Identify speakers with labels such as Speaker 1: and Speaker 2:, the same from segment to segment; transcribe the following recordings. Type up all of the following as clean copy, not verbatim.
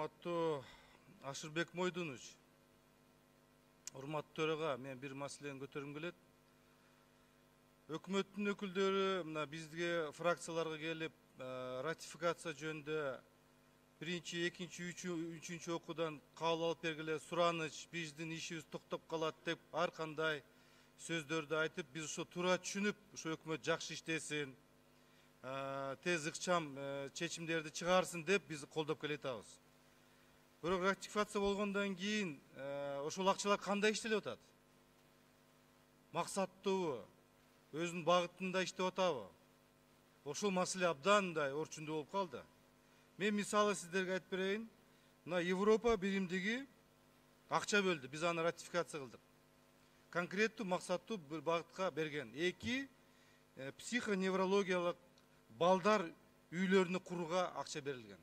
Speaker 1: Урматтуу Ашырбек Мойдунович, урматтуу төрага, мен бир маселени көтөргүм келет. Өкмөттүн өкүлдөрү мына бизге фракцияларга келип, ратификация жөнүндө биринчи, экинчи, үчүнчү окуудан кабыл алып бергиле, сураныч, биздин ишибиз токтоп калат деп ар кандай сөздөрдү айтып, биз ошо туура түшүнүп, ошо өкмөт жакшы иштесин, тез ыкчам чечимдерди чыгарсын деп биз колдоп келатабыз. Бирок ратификация болгондон кийин ошол акчалар кандай иштелип атат? Максаттуубу? Өзүнүн багытында иштеп атабы? Ошол маселе абдан мындай орчундуу болуп калды. Мен мисалы сиздерге айтып берейин. Мына Европа биримдиги акча бөлдү, биз аны ратификация кылдык. Конкреттүү максаттуу бир багытка берген. 2 психоневрологиялык балдар үйлөрүнү курууга акча берилген.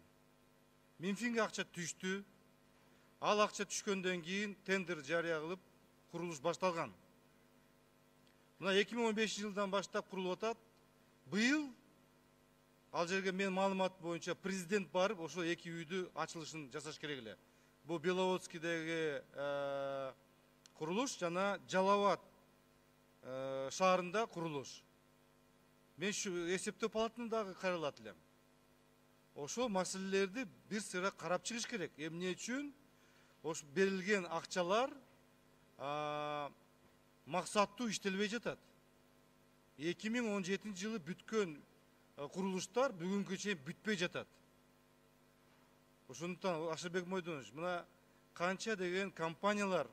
Speaker 1: Минфинге акча түштү. Ал акча түшкөндөн кийин тендер жарыя кылып, курулуш башталган. Мына 2015 жылдан баштап курулуп атат. Быйыл ал жерге мен маалымат боюнча президент барып, ошо 2 үйдү ачылышын жасаш керек эле. Бул Беловодскийдеги курулуш жана Жалал Абад шаарында курулуш. Мен эсептөө палатаны дагы кайрылат элем. Ошол маселелерди бир сыйра карап чыгыш керек. Эмне үчүн ошо берилген акчалар максаттуу иштелбей жатат? 2017 жылы бүткөн курулуштар бүгүнгү чейин бүтпөй жатат. Ошондуктан Ашырбек Мойдунович, мына канча деген компаниялар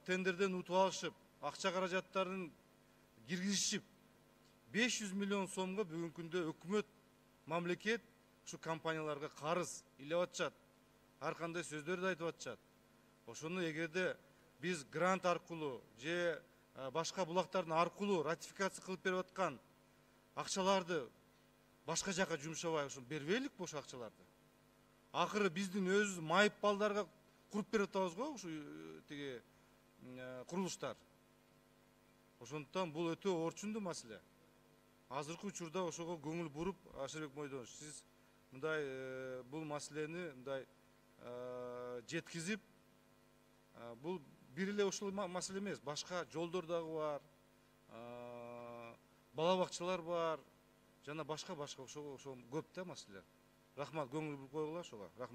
Speaker 1: тендерден утуп алышып, акча каражаттарын киргизишип, 500 миллион сомго бүгүнкү күндө өкмөт, мамлекет ушу компанияларга карыз илеп атышат. Ар кандай сөздөрдү айтып атышат. Ошону эгерде биз грант аркылуу же башка булактардын аркылуу ратификация кылып берип аткан акчаларды башка жака жумшабай, ошо бербейлик бош акчаларды. Акыры биздин өзүбүз майып балдарга куруп берип атабыз го ушу тиги курулуштар. Ошондуктан бул өтө орчундуу маселе. Азыркы учурда ошого көңүл буруп, Ашырбек Мойдунович, сиз мындай бул маселени мындай жеткизип, бул бир эле ушул маселе эмес, башка жолдор дагы бар, бала бакчалар бар, жана башка ошо көп да маселе. Рахмат, көңүл буруп койгула ошого. Рахмат.